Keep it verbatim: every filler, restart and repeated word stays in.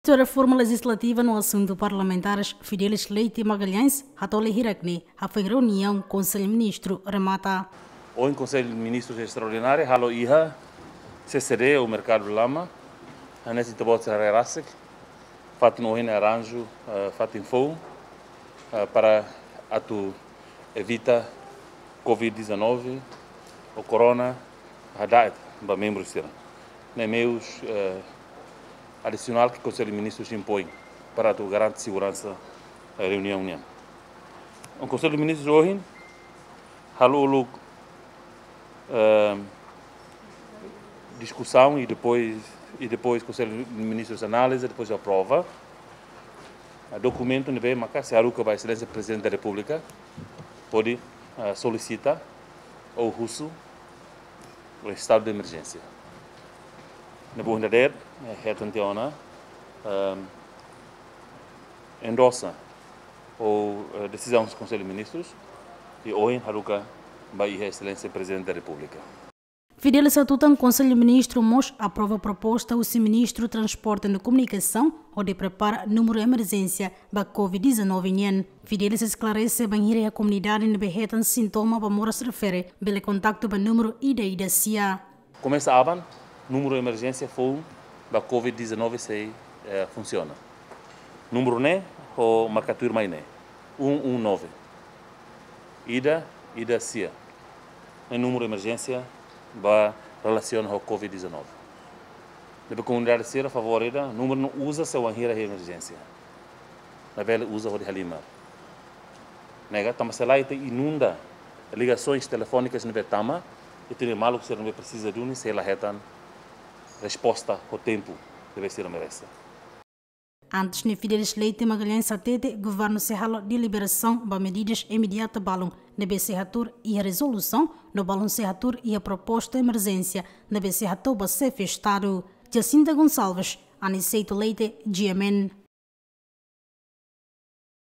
Ministru Reforma Lejislativa no Asuntu Parlamentares, Fidelis Leite Magalhães, hato'o lia hirak ne'e hafoin reuniaun Konsellu Ministru remata. Ohin Konsellu Ministrus Estraordináriu halo iha C C D ou Merkadu Lama, hanesan ita-boot sira haree rasik, fatin ohin arranju, eh, fatin foun, eh, para atu evita covid dezanove ou corona hada'et ba membru sira. Ne'e meius, eh, adisionál ke Konsellu Ministrus impoin para atu garante seguransa, eh, reuniaun nian. Konsellu Ministrus ohin halo uluk, eh, diskusaun i depois, i depois Konsellu Ministrus analiza, depois aprova, eh, dokumentu ne'ebé maka sei haruka ba Exelénsia Prezidente da Repúblika hodi, eh, solisita ou husu estadu de emerjénsia. Ne'ebé ohin dadeer, eh, hetan tiha ona, ehm, endosa ou, eh, desizaun Konsellu Ministrus, i ohin haruka ba iha Exelénsia Prezidente da Repúblika. Fidelis hatutan Konsellu Ministru mós aprova proposta husi Ministru Transporte no Komunikasaun hodi prepara númeru emerjénsia ba covid dezanove nian. Fidelis esklarese bainhira iha komunidade ne'ebé hetan sintoma ba moras refere bele kontaktu ba númeru ida ida sia. Komesa aban, númeru emerjénsia foun ba covid dezanove sei, eh, funsiona. Númeru ne'e ho marka tuirmai ne'e, um um nove. Ida ida sia. Ne'e númeru emerjénsia ba relasiona ho covid dezanove. Ne'ebé komunidade sira favór ida, númeru ne'e uza sei wainhira iha emerjénsia. Labele uza hodi halimar. Ne'e ka, tanba se lae ita inunda ligasoens telefónikas ne'ebé tama, ita-nia maluk sira ne'ebé presiza duni sei la hetan resposta ho tempu ne'ebé sira merese. Antes ne'e Fidelis Leite Magalhães hatete, governu sei halo deliberasaun ba medidas imediata balun ne'ebé sei hatuur iha rezolusaun, no balun sei hatuur iha proposta emerjénsia ne'ebé sei hato'o ba Xefe Estadu. Jacinta Gonçalves, Aniceto Leite, G M N.